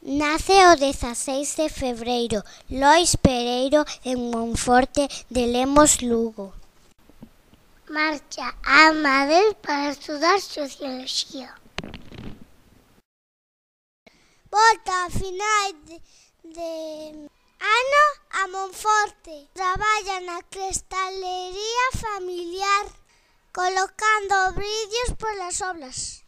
Nace o 16 de febreiro Lois Pereiro en Monforte de Lemos, Lugo. Marcha a Madrid para estudar Socioloxía. Volta a final de ano a Monforte. Traballa na cristalería familiar, colocando brillos polas obras.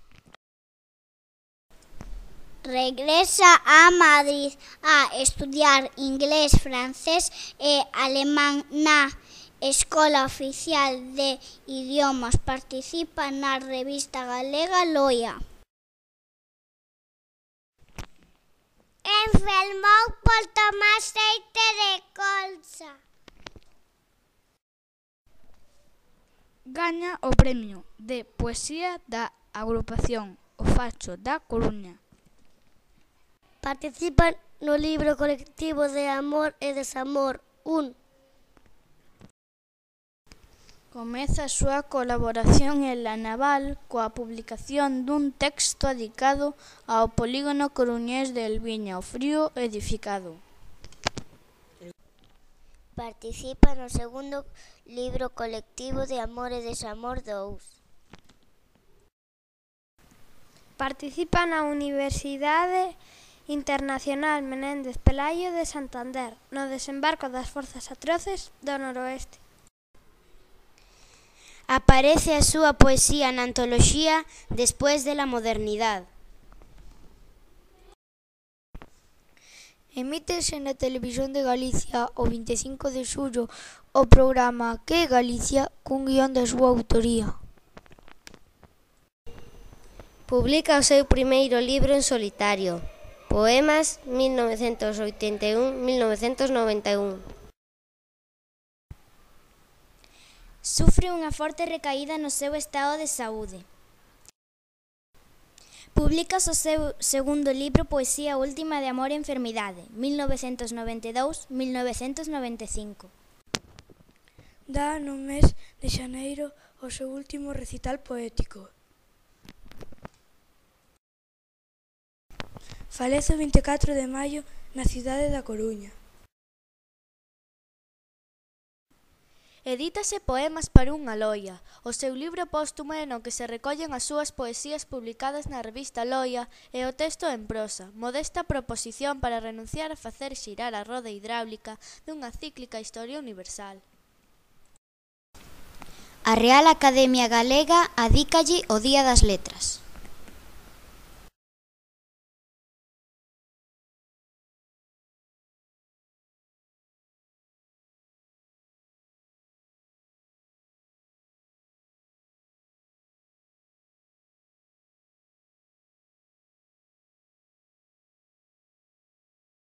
Regresa a Madrid a estudiar inglés, francés e alemán na Escola Oficial de Idiomas. Participa na revista galega Loia. Enfermou por tomar aceite de colza. Gaña o premio de poesía da agrupación O Facho da Coruña. Participa no libro colectivo de Amor e Desamor 1. Comeza a súa colaboración en La Naval coa publicación dun texto dedicado ao polígono coruñés de Elviña, o frío edificado. Participa no segundo libro colectivo de Amor e Desamor 2. Participa na Universidade Internacional Menéndez Pelayo de Santander, no desembarco das forzas atroces do noroeste. Aparece a súa poesía na antoloxía Despois de la modernidade. Emítese na Televisión de Galicia o 25 de xullo o programa Que é Galicia, cun guión da súa autoría. Publica o seu primeiro libro en solitario, Poemas 1981-1991. Sufre unha forte recaída no seu estado de saúde. Publica o seu segundo libro Poesía última de amor e enfermidade, 1992-1995. Dá no mes de xaneiro o seu último recital poético. Falece o 24 de maio na cidade da Coruña. Edítase Poemas para unha loia, o seu libro póstumo no que se recollen as súas poesías publicadas na revista Loia e o texto en prosa, modesta proposición para renunciar a facer xirar a roda hidráulica dunha cíclica historia universal. A Real Academia Galega adícalle o Día das Letras.